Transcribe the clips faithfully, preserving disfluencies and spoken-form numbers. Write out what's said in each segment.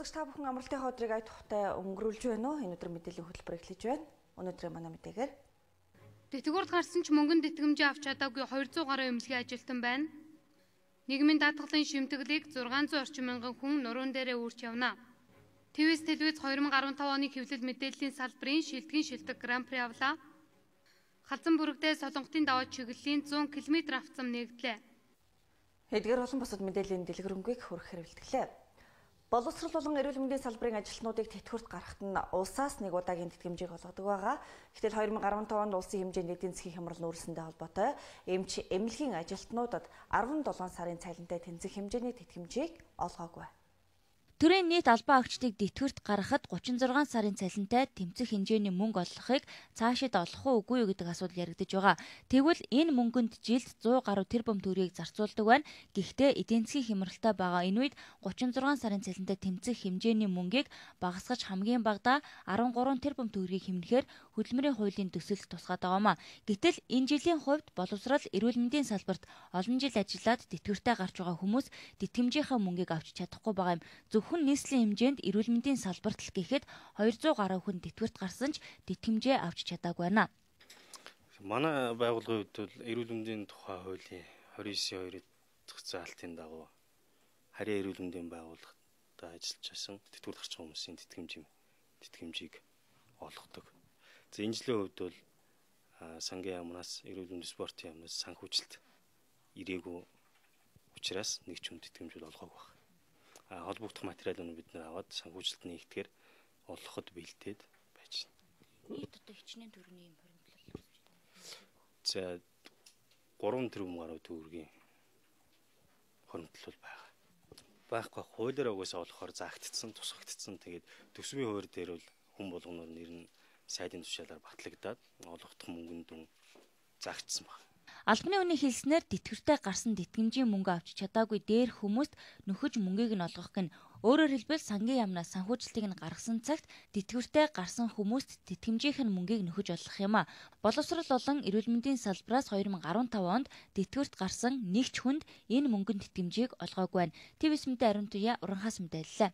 үзэгч та бүхэн амралтын ходрыг ая тухтай өнгөрүүлж байна уу? Энэ өдөр мэдээллийн хөтөлбөр эхлэж байна. Өнөөдрийн манай мэдээгээр Тэтгэврт гарсан ч мөнгөнд тэтгэмжээ авч чадаагүй хоёр зуун гаруй эмнэлгийн ажилтан байна. Нийгмийн даатгалын шимтгэлийг зургаан зуун орчим мянган хүн нуруунд дээрээ үүрч явна. ТВ-с телевиз хоёр мың арван таван оны хэвлэл мэдээллийн салбарын шилдэгэн шилдэг гран-при авлаа. Халзан бүрэгдээ Солонготын даваа чиглэлийн зуун километр авцам нэгдлээ. Эдгээр олон бусад мэдээллийн дэлгэрэнгийг хүргэх хэрэгэлтгэлээ. Боловсрол болон эрүүл мэндийн салбарын ажилтнуудыг тэтгэврт гаргахад нь улсаас нэг удаагийн тэтгэмжийг олгодог байгаа. Гэтэл хоёр мың арван таван онд улсын хэмжээнд эдийн засгийн хямрал нүүрсэндээ холбоотой эмч эмнэлгийн ажилтнуудад арван долоон сарын цалинтай тэнцэх хэмжээний тэтгэмжийг олгоогүй. Төрийн нийт албан агчдыг тэтгэврт гаргахад гучин зургаан сарын цалинтай тэмцэх хэмжээний мөнгө олгохыг цаашид олох уу үгүй юу гэдэг асуудал яригдж байгаа. Тэгвэл энэ мөнгөнд жилд зуун гаруй тэрбум төгрөгийг зарцуулдаг байна. Гэхдээ эдийн засгийн хямралтай байгаа энэ үед гучин зургаан сарын цалинтай тэмцэх хэмжээний мөнгийг багасгаж хамгийн багадаа арван гурван тэрбум төгрөгийг хэмнэхээр хөдөлмөрийн хуулийн төсөлд тусгаад байгаамаа. Гэтэл энэ жилийн хувьд боловсрал эрүүл мэндийн салбарт олон жил ажиллаад тэтгэвртээ гарч байгаа хүмүүс тэтгэмжийнхаа мөнгийг авч чадахгүй байгаа юм. Зөвхөн нийслэлийн хэмжээнд эрүүл мэндийн салбарт л гэхэд хоёр зуун гаруй хүн тэтгэврт гарсан ч тэтгэмжээ авч чадаагүй байна. Манай байгууллагын хувьд бол эрүүл мэндийн тухай хуулийн двадцать девять хоёр дахь заалтын дагуу харьяа эрүүл мэндийн байгууллагад ажиллаж байсан тэтгэврт гарч байгаа хүмүүсийн тэтгэмж тэтгэмжийг олгодог. За энэ жилийн хувьд бол сангийн яамнаас эрүүл мэндийн спортын яамнаас санхүүжилт ирээгүй учраас нэг ч хүн тэтгэмжүүд олгоогүй байна. А холбогдох материалууд бид нэр аваад санхүүжилт нэгтгэхээр олгоход бэлдээд байж байна. Нийт одоо хичнээн төгрөгийн юм хоригдлол. За гурван тэрбум гаруй төгрөгийн хоригдлол байгаа. Байхгүй хуулиар угаасаа олохоор заагдцсан, тусгагдцсан. Тэгээд төсвийн хувьд дээр бол хүн болгоноор нэр нь сайдын тушаалаар батлагдаад олгох мөнгөнд дүн заагдсан байна. Албаны хүний хэлснээр тэтгэвртээ гарсан тэтгэмжийн мөнгө авч чадаагүй дээр хүмүүст нөхөж мөнгийг нь олгох гэн. Өөрөөр хэлбэл сангийн яамнаас санхүүжилтийг нь гаргасан цагт тэтгэвртээ гарсан хүмүүст тэтгэмжийнх нь мөнгийг нөхөж олгох юм а. Боловсрол болон эрүүл мэндийн салбараас хоёр мың арван таван онд тэтгэврт гарсан нэг ч хүнд энэ мөнгөнд тэтгэмжийг олгоогүй байна. ТВ-с мэдээ ариун туяа уранхаас мэдээллээ.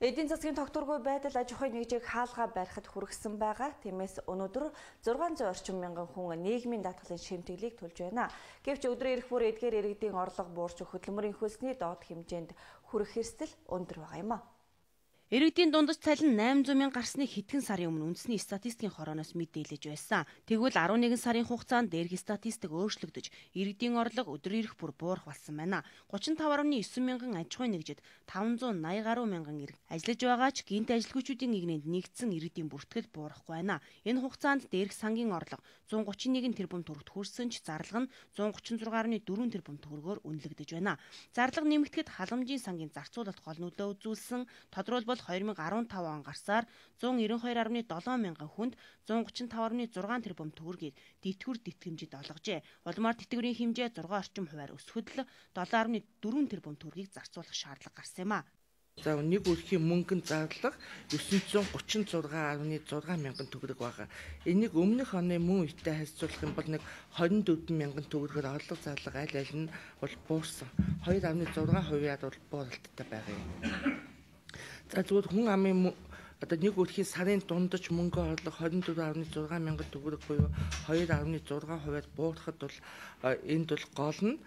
Эдийн засгийн тогтворгүй байдал аж ахуйн нэгжийг хаалгаа барихад хүргэсэн байгаа. Тиймээс өнөөдөр зургаан зуун орчим мянган хүн нийгмийн даатгалын шимтгэлийг төлж байна. Гэвч өдрийн эрх бүр эдгээр иргэдийн орлого буурч хөдөлмөрийн хөлсний доод хэмжээнд хүрэх эрсдэл өндөр байгаа юм а. Иргэдийн дундаж цалин найман зуун мянга гарсны хэдхэн сарын өмнө үндэсний статистикийн хорооноос мэдээлж байсан. Тэгвэл арван нэгэн сарын хугацаанд дээрх статистик өөрчлөгдөж, иргэдийн орлого өдрийн эрх бүр буурах болсон байна. гучин таван гаруй девять мянган аж ахуйн нэгжид таван зуун наяа гаруй мянган иргэн ажиллаж байгаа ч гинт ажилгүйчүүдийн игнэнд нэгдсэн иргэдийн бүртгэл буурахгүй байна. Энэ хугацаанд дээрх сангийн орлого зуун гучин нэгэн тэрбум төгрөгт хүрсэн ч зарлага нь зуун гучин зургаан гаруй дөрвөн тэрбум төгрөгөөр үнэлэгдэж байна. Зарлага нэмэгдэхэд халамжийн сангийн зарцуулалт гол нөлөө үзүүлсэн. Тодорхойлбол хоёр мың арван таван он гарсаар зуун нэмэн хоёр гаруй долоон мянган хүнд зуун гучин таван гаруй зургаан тэрбум төгрөгийг тэтгэврт тэтгэмжид олгожээ. Улмаар тэтгэврийн хэмжээ зургаан орчим хувиар өсөхөд л долоон гаруй дөрвөн тэрбум төгрөгийг зарцуулах шаардлага гарсан юм а. За нэг өрхийн мөнгөнд зарлага девять зуун гучин зургаан гаруй зургаан мянган төгрөг байгаа. Энийг өмнөх оны мөн үетэй харьцуулах юм бол нэг двадцать дөрвөн мянган төгрөгөөр орлого зарлага аль аль нь бол буурсан. two гаруй зургаан хувиар бол бууралттай байгаа юм. За зүгээр хүн амын одоо нэг өрхийн сарын дундаж мөнгө орлого двадцать дөрвөн гаруй зургаан мянган төгрөг буюу two гаруй зургаан хувиар буурахад бол энд бол гол нь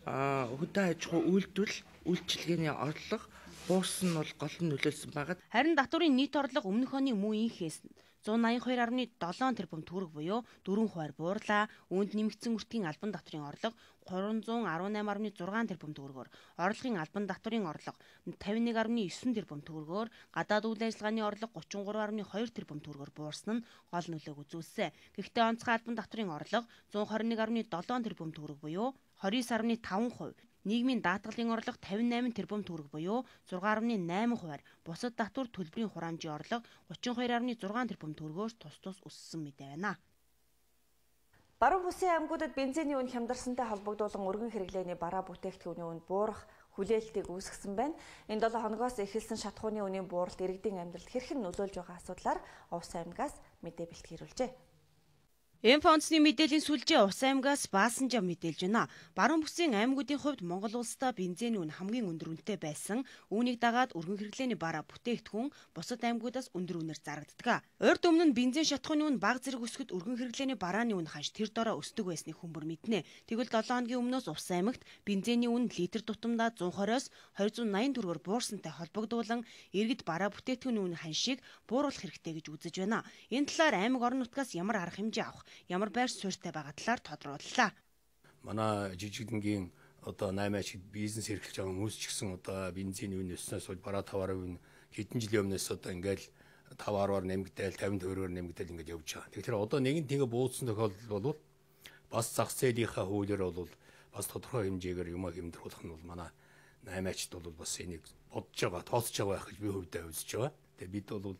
хөдөө аж ахуй үйлдвэр үйлчилгээний орлого буурсан нь бол гол нь нөлөөлсөн байгаа. Харин татврын нийт орлого өмнөх оны мөн инхээс зуун найман хоёр гаруй долоон тэрбум төгрөг буюу дөрвөн хувиар буурлаа. Үүнд нэмэгдсэн үртгийн албан татврын орлого гурван зуун арван найман гаруй зургаан тэрбум төгрөгөөр, орлогын албан татврын орлого тавин нэг гаруй девять тэрбум төгрөгөөр, гадаад үйл ажиллагааны орлого гучин гурван гаруй хоёр тэрбум төгрөгөөр буурсан нь гол нөлөөг үзүүлсэн. Гэхдээ онцгой албан татврын орлого зуун хорин нэг гаруй долоон тэрбум төгрөг буюу двадцать девять гаруй таван хувь, нийгмийн даатгалын орлого тавин восемь тэрбум төгрөг буюу шесть гаруй восемь хувиар, бусад татвар төлбөрийн хураамжийн орлого тридцать two гаруй сix тэрбум төгрөгөөр тус тус өссөн мэдээ байна. Баруун бүсийн аймагуудад бензиний үн хямдарсантай холбогдуулан өргөн хэрэглээний бараа бүтээгдэхүүний үнд буурах хүлээлтийг үүсгэсэн байна. Энэ долоо хоногоос эхэлсэн шатхууны үнийн бууралт иргэдийн амьдралд хэрхэн нөлөөлж байгаа асуудлаар Увс аймагаас мэдээ бэлтгэрүүлжээ. Инфо онцны мэдээллийн сүлжээ Ус аймгаас Баасанжаа мэдээлж байна. Баруун бүсийн аймагуудын хувьд Монгол улсдаа бензиний үн хамгийн өндөр үнэтэй байсан. Үүнийг дагаад өргөн хэрэглээний бараа бүтээгдэхүүн бусад аймагуудаас өндөр үнээр зарагддаг. Урд өмнө нь бензин шатхууны үн бага зэрэг өсгөд өргөн хэрэглээний барааны үн ханш тэр дороо өсдөг байсныг хүмүүр мэднэ. Тэгвэл долоон хоногийн өмнөөс Ус аймагт бензиний үн литр тутамдаа зуун хорвоос хоёр зуун найман төгрөгөөр буурсантай холбогдуулан иргэд бараа бүтээгдэхүүний үн ханшийг бууруулах хэрэгтэй гэж үзэж байна. Энэ талаар аймаг орон нутгаас ямар арга хэмжээ авах, ямар байр суурьтай байгаа талаар тодрууллаа. Манай жижигдэнгийн одоо найман ашиг бизнес эрхлэж байгаа хүмүүс ч гэсэн одоо бензиний үн өснөөс бол бараа таваараа үн хэдэн жилийн өмнөөс одоо ингээл тавь арваар нэмэгдээл тавин төгрөгөөр нэмэгдээл ингээд явж байгаа. Тэгэхээр одоо нэгэн тэгээ бууцсан тохиолдол бол бас зах зээлийнхаа хуулиар бол бас тодорхой хэмжээгээр юм хэмдэрүүлэх нь бол манай найман ачд бол бас энийг бодож байгаа, тооцож байгаа байх гэж би хувьдаа үзэж байгаа. Тэгээ бид бол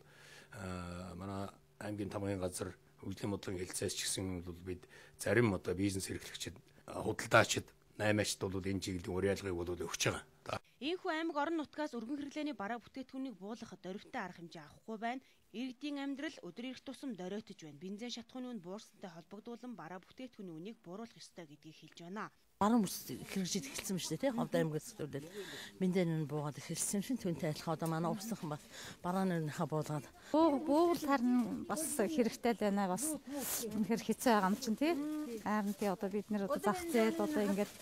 манай аймгийн тамгын газар хөгжлийн бодлогын хэлцээс ч гэсэн бол бид зарим одоо бизнес эрхлэгчид худалдаачид найман ачд бол энэ чиглэлийн уриалгыг бол өгч байгаа. Ийхүү аймаг орон нутгаас өргөн хэрэглээний бараа бүтээгдэхүүнийг буулгахад дөрвтэй арга хэмжээ авахгүй байна. Иргэдийн амьдрал өдөр ирэх тусам доройтож байна. Бензин шатхууны үн буурсантай холбогдуулан бараа бүтээгдэхүүний үнийг бууруулах ёстой гэдгийг хэлж байна. Баруун бүс хэрэгжиж эхэлсэн ба шүү дээ, Ховд аймагаас төлөөл бензин буугаад эхэлсэн шин түүнтэй адилхан одоо манай увсхан бас бараанынхаа буулгаад буугал харин бас хэрэгтэй л байна. Бас үнэхээр хэцүү байгаа юм чинь тий. Харин тий одоо бид нэр одоо зах зээл одоо ингээд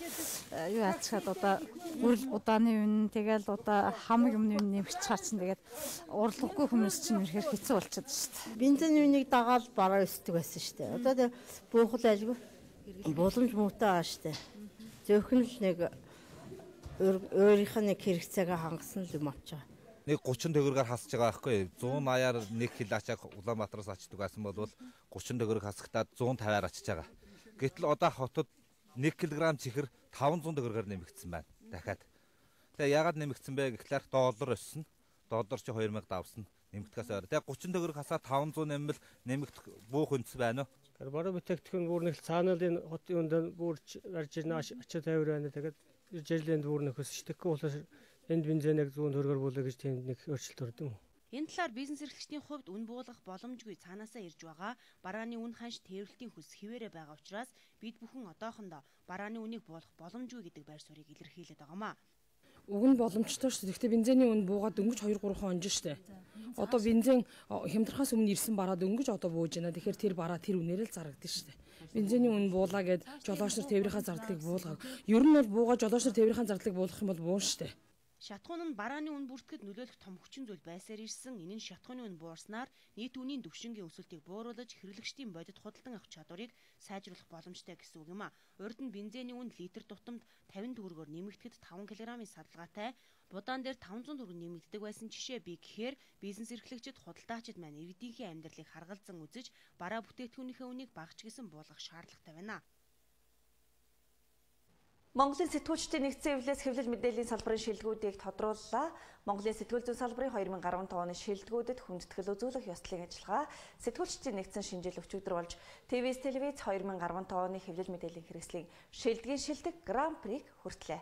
юу ачаад одоо үрэл удааны үн тэгэл одоо хам юмны үн нэмэгч чаачин тэгээд урлаггүй хүмүүс чинь үнэхээр хэцүү болчиход шүү дээ. Бензин үнийг дагаад бараа өсдөг байсан шүү дээ. Одоо буухал айлгүй боломж муутай байгаа шүү дээ. Зөвхөн л нэг өөрийнх нь нэг хэрэгцээгээ хангасан л юм авч байгаа. Нэг гучин төгрөгөөр хасж байгаа байхгүй. зуун аяар нэг кил ачааг Улаанбаатараас ачдаг байсан бол гучин төгрөг хасагтаад зуун тавиар ачиж байгаа. Гэтэл одоо хотод нэг килограмм чихэр таван зуун төгрөгөөр нэмэгдсэн байна. Дахиад. Тэгээ яагаад нэмэгдсэн бэ гэхлээр доллар өссөн. Доллар чи хоёр мянга давсан. Нэмэгдэхээс өөр. Тэгээ гучин төгрөг хасаад таван зуун нэмэл нэмэгдэх буух үндэс байна уу? Бараа бүтээгдэхүүн бүр нэг цаанаалын хотын өндөө бүрж гарч ирнэ ачаа тавир байна. Тэгээд жижиглийн бүр нэг өсчихдэг учраас энд бензиныг зүүн төгрөгөөр буулаа гэж тэнд нэг өөрчлөлт ордог юм. Энэ талаар бизнес эрхлэгчдийн хувьд үн буулгах боломжгүй цаанаасаа ирж байгаа. Барааны үн ханш тээвэрлтийн хүс хിവэрэ байгаа учраас бид бүхэн одоохондоо барааны үнийг буулгах боломжгүй гэдэг байр суурийг илэрхийлээд байгаамаа. Уг нь боломжтой шүү дээ. Гэхдээ бензиний үн буугаад дөнгөж хоёр гурван хон онж штэ. Одоо бензин хямдрахаас өмнө ирсэн бараа дөнгөж одоо бууж байна. Тэгэхээр тэр бараа тэр үнээр л зарагдсан штэ. Бензиний үн буулаа гэд жолооч нар тээврийнхаа зардлыг буулгаад. Ер нь бол буугаад жолооч нар тээврийнхаа зардлыг буулгах юм бол буун штэ. Шатхуун нь барааны үн бүртгэхэд нөлөөлөх том хүчин зүйл байсаар ирсэн. Энэ нь шатхууны үн буурснаар нийт үнийн түвшингийн өсөлтийг бууруулж хэрэглэгчдийн бодит худалдан авах чадварыг сайжруулах боломжтой гэсэн үг юм а. Урд нь бензиний үн литр тутамд тавин төгрөгөөр нэмэгдэхэд таван килограммын садалгаатай будаан дээр таван зуун төгрөг нэмэгддэг байсан жишээ бий гэхээр бизнес эрхлэгчид худалдаачид маань иргэдийнхээ амьдралыг харгалзан үзэж бараа бүтээгдэхүүнийхээ үнийг багч гэсэн буулгах шаардлагатай байна. Монголын сэтгүүлчдийн нэгдсэн эвлээс хэвлэл мэдээллийн салбарын шилдэгүүдийг тодрууллаа. Монголын сэтгүүл зүйн салбарын хоёр мянга арван тавь оны шилдэгүүдэд хүндэтгэл үзүүлэх ёслолын ажиллагаа сэтгүүлчдийн нэгдсэн шинжил өчигдөр болж тэ вэ эс телевиз хоёр мянга арван тавь оны хэвлэл мэдээллийн хэрэгслийн шилдэгийн шилдэг Гран Приг хүртлээ.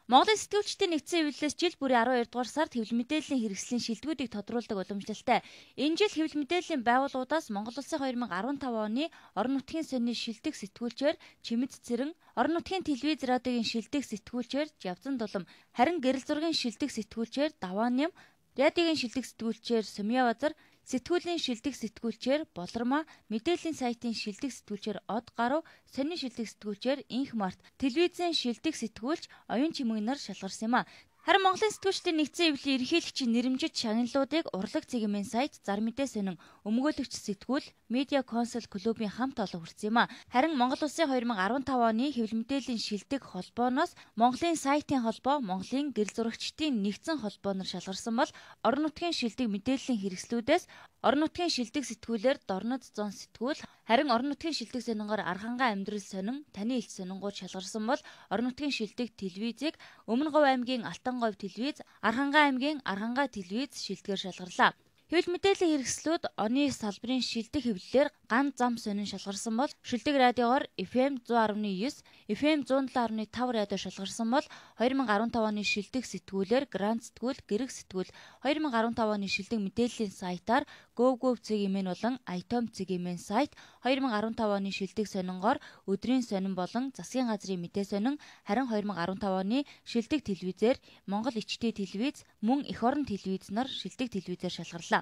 Монголын сэтгүүлчдийн нэгдсэн эвлэлээс жил бүрийн арван хоёр дугаар сард хэвлэл мэдээллийн хэрэгслийн шилдэгүүдийг тодруулдаг уламжлалтай. Энэ жил хэвлэл мэдээллийн байгууллагуудаас Монгол улсын хоёр мянга арван тавь оны орон нутгийн сонины шилдэг сэтгүүлчээр Чимэд Цэрэн, орон нутгийн телевиз радиогийн шилдэг сэтгүүлчээр Жавзан Дулам, харин гэрэл зургийн шилдэг сэтгүүлчээр Даваан Ням, радиогийн шилдэг сэтгүүлчээр Сумья Базар, сэтгүүлийн шилдэг сэтгүүлчээр Болормаа, мэдээллийн сайтын шилдэг сэтгүүлчээр Од Гаруй, сонины шилдэг сэтгүүлчээр Инх Март, телевизийн шилдэг сэтгүүлч Оюун Чимэг нар шалгарсан юм а. Харин Монголын сэтгүүлчдийн нэгдсэн эвлэлийн ерөнхийлөгчийн нэрэмжит шагналуудыг урлаг цэгийн сайт Зар мэдээ сонин өмгөөлөгч сэтгүүл Медиа Консул клубын хамт олон хүрсэн юм а. Харин Монгол улсын хоёр мянга арван тавь оны хэвлэл мэдээллийн шилдэг холбооноос Монголын сайтын холбоо, Монголын гэрэл зурагчдын нэгдсэн холбооноор шалгарсан бол орон нутгийн шилдэг мэдээллийн хэрэгслүүдээс орон нутгийн шилдэг сэтгүүлээр Дорнод зон сэтгүүл, харин орон нутгийн шилдэг сонингоор Архангай амьдрал сонин, Таны элч сонингууд шалгарсан бол орон нутгийн шилдэг телевизийг Өмнө Говь аймгийн Алтан говь телевиз, Архангай аймгийн Архангай телевиз шилдгээр шалгарлаа. Хэвлэл мэдээллийн хэрэгслүүд оны салбарын шилдэг хэвлэлээр ганц зам сонин шалгарсан бол шилдэг радиогоор эф эм one hundred point nine, эф эм one oh seven point five радио шалгарсан бол two thousand fifteen оны шилдэг сэтгүүлээр грант сэтгүүл, гэрэг сэтгүүл, two thousand fifteen оны шилдэг мэдээллийн сайтаар GoGo цэгийн болон iTom цэгийн сайт, two thousand fifteen оны шилдэг сонингоор өдрийн сонин болон засгийн газрын мэдээ сонин, харин two thousand fifteen оны шилдэг телевизээр Монгол ичтэй телевиз, мөн эх орон телевиз нар шилдэг телевизээр шалгарлаа.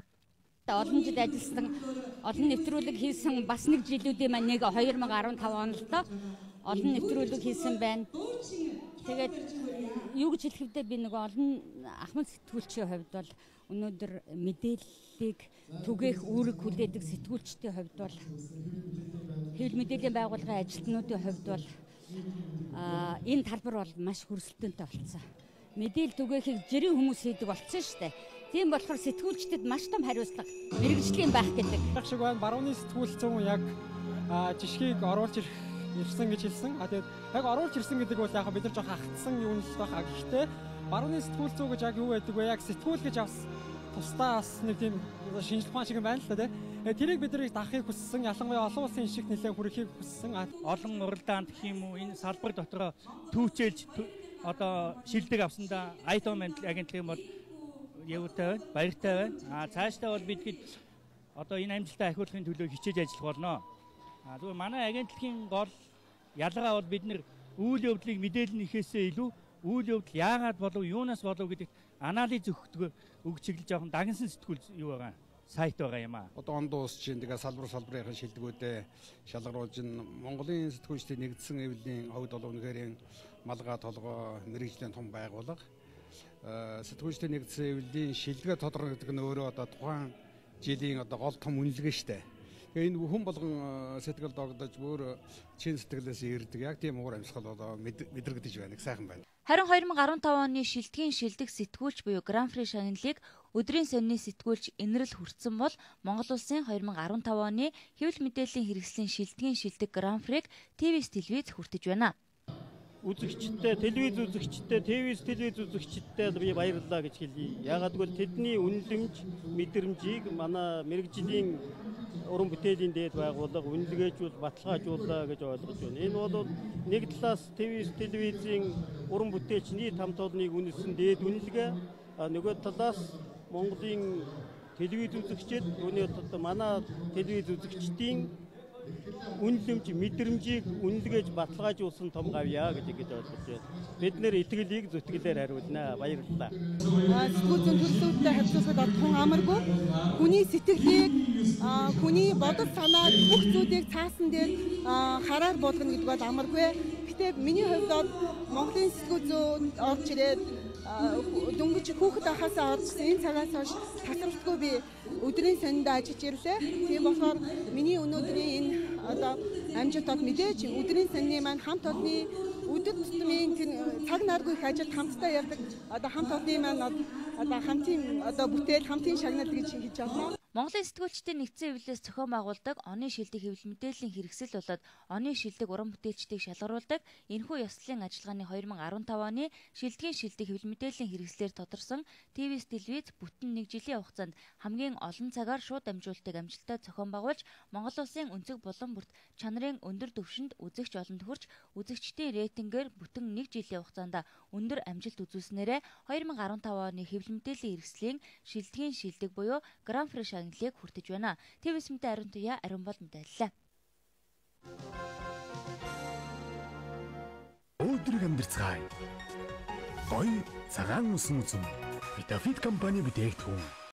Олон жил ажилласан, олон нэвтрүүлэг хийсэн бас нэг жилүүдийн маань нэг two thousand fifteen онд л олон нэвтрүүлэг хийсэн байна. Тэгээд юу гэж хэлэх вэ, би нэг олон ахмад сэтгүүлчийн хувьд бол өнөөдөр мэдээллийг түгээх үүрэг хүлээдэг сэтгүүлчдийн хувьд бол хэвлэл мэдээллийн байгууллагын ажилтнуудын хувьд бол энэ талбар бол маш хөрсөлтөнтэй болсон. Мэдээлэл түгээхийг жирийн хүмүүс хийдэг болсон шүү дээ. Тийм болохоор сэтгүүлчдэд маш том хариуцлага, мэрэгжлийн байх гэдэг. Яг шиг байна. Барууны сэтгүүлцэн яг жишгийг оруулж ирсэн гэж хэлсэн. А тэгээд яг оруулж ирсэн гэдэг бол яг бид нар жоох хагтсан юм л байх. Гэхдээ барууны сэтгүүлцүү гэж яг юу байдаг вэ? Яг сэтгүүл гэж авс тусдаа бас нэг тийм шинжлэх ухаан шиг байна л да тийм. Тэрийг бид нарыг дахахыг хүссэн, ялангуяа олон улсын шиг нэлээд хүрэхийг хүссэн. Олон уралдаанд гэх юм уу энэ салбар дотор түүчээлж одоо шилдэг авсандаа iTom агентлагийн бол явуутай байна, баяртай байна. А цаашдаа бол бид хэд одоо энэ амжилтаа ахиулахын төлөө хичээж ажиллах болно. А зүгээр манай агентлагийн гол ялгаа бол бид нэр үйл явдлыг мэдээлнийхээсээ илүү үйл явдал яагаад болов, юунаас болов гэдэгт анализ өгдөг өгч чиглэж явах дагнсан сэтгүүл юу байгаа сайт байгаа юм аа. Одоо он дуус чинь тэгээ салбар салбарын шилдэгүүдээ шалгаруулж Монголын сэтгүүлчдийн нэгдсэн эвлэлийн хувьд бол үнэхээр малгай толгой мэрэгжлийн том байгууллага. Сэтгүүлчдийн нэгдсэн эвлэлийн шилдэгэ тодорхой гэдэг нь өөрөө одоо тухайн жилийн одоо гол том үнэлгээ штэ. Тэгээ энэ хүн болгон сэтгэл догдож бүр чин сэтгэлээс ирдэг. Яг тийм уур амьсгал одоо мэдрэгдэж байна. Их сайхан байна. Харин two thousand fifteen оны шилдгийн шилдэг сэтгүүлч буюу Гран При шагналыг өдрийн сонины сэтгүүлч инэрл хүртсэн бол Монгол улсын two thousand fifteen оны хэвлэл мэдээллийн хэрэгслийн шилдгийн шилдэг Гран Приг ТВ-с телевиз хүртэж байна. Үзэгчтэй, телевиз үзэгчтэй, ТВ-с телевиз үзэгчтэй би баярлалаа гэж хэлье. Яагаад гэвэл тэдний үнэлэмж, мэдрэмжийг манай мэрэгжлийн уран бүтээлийн дээд байгууллага үнэлгээжүүл, баталгаажууллаа гэж ойлгож байна. Энэ бол нэг талаас ТВ-с телевизийн уран бүтээлч нийт хамт олныг үнэлсэн дээд үнэлгээ, нөгөө талаас Монголын телевиз үзэгчид, үүний одоо манай телевиз үзэгчдийн үнэлэмж, мэдрэмжийг үнэлгээж баталгаажуулсан том гавьяа гэж ингэж ойлгож байна. Бид нэр итгэлийг зүтгэлээр хариулнаа. Баярлалаа. Сэтгүүлчдийн төлөвлөлтөд харьцуулахад тун амаргүй хүний сэтгэлийг, хүний бодол санааг бүх зүйлийг цаасан дээр хараар болгоно гэдэг бол амаргүй. Гэтэ миний хувьд бол Монголын сэтгүүлчид орж ирээд дөнгөж хүүхэд ахасаа оржсэн энэ цагаас хойш тасралтгүй би өдрийн сонинд ажиллаж ирлээ. Тийм болохоор миний өнөөдрийн энэ одоо амжилтад мэдээж өдрийн сонины маань хамт олонны өдөр тутмын цаг наргүй их ажилд хамтдаа явдаг одоо хамт олонны маань одоо хамтын одоо бүтээл хамтын шагнал гэж хийж байна. Монголын сэтгүүлчдийн нэгдсэн эвлэлээс зохион байгуулдаг оны шилдэг хэвлэл мэдээллийн хэрэгсэл болоод оны шилдэг уран бүтээлчдийг шалгаруулдаг энэхүү ёслолын ажиллагааны two thousand fifteen оны шилдгийн шилдэг хэвлэл мэдээллийн хэрэгслээр тодорсон ТВ-с телевиз бүтэн нэг жилийн хугацаанд хамгийн олон цагаар шууд дамжуулалтыг амжилттай зохион байгуулж Монгол улсын өнцөг булан бүрт чанарын өндөр түвшинд үзэгч олонд хүрч үзэгчдийн рейтингээр бүтэн нэг жилийн хугацаанд өндөр амжилт үзүүлснээрээ two thousand fifteen оны хэвлэл мэдээллийн хэрэгслийн шилдгийн шилдэг буюу Гран При шагналыг хүртэж байна. ТВ-с мэдээ ариун туяа ариун бол мэдээллээ. Өдрөг амьдцгаая. Гой цагаан усан үзм. Витафит компани бүтээгдэхүүн.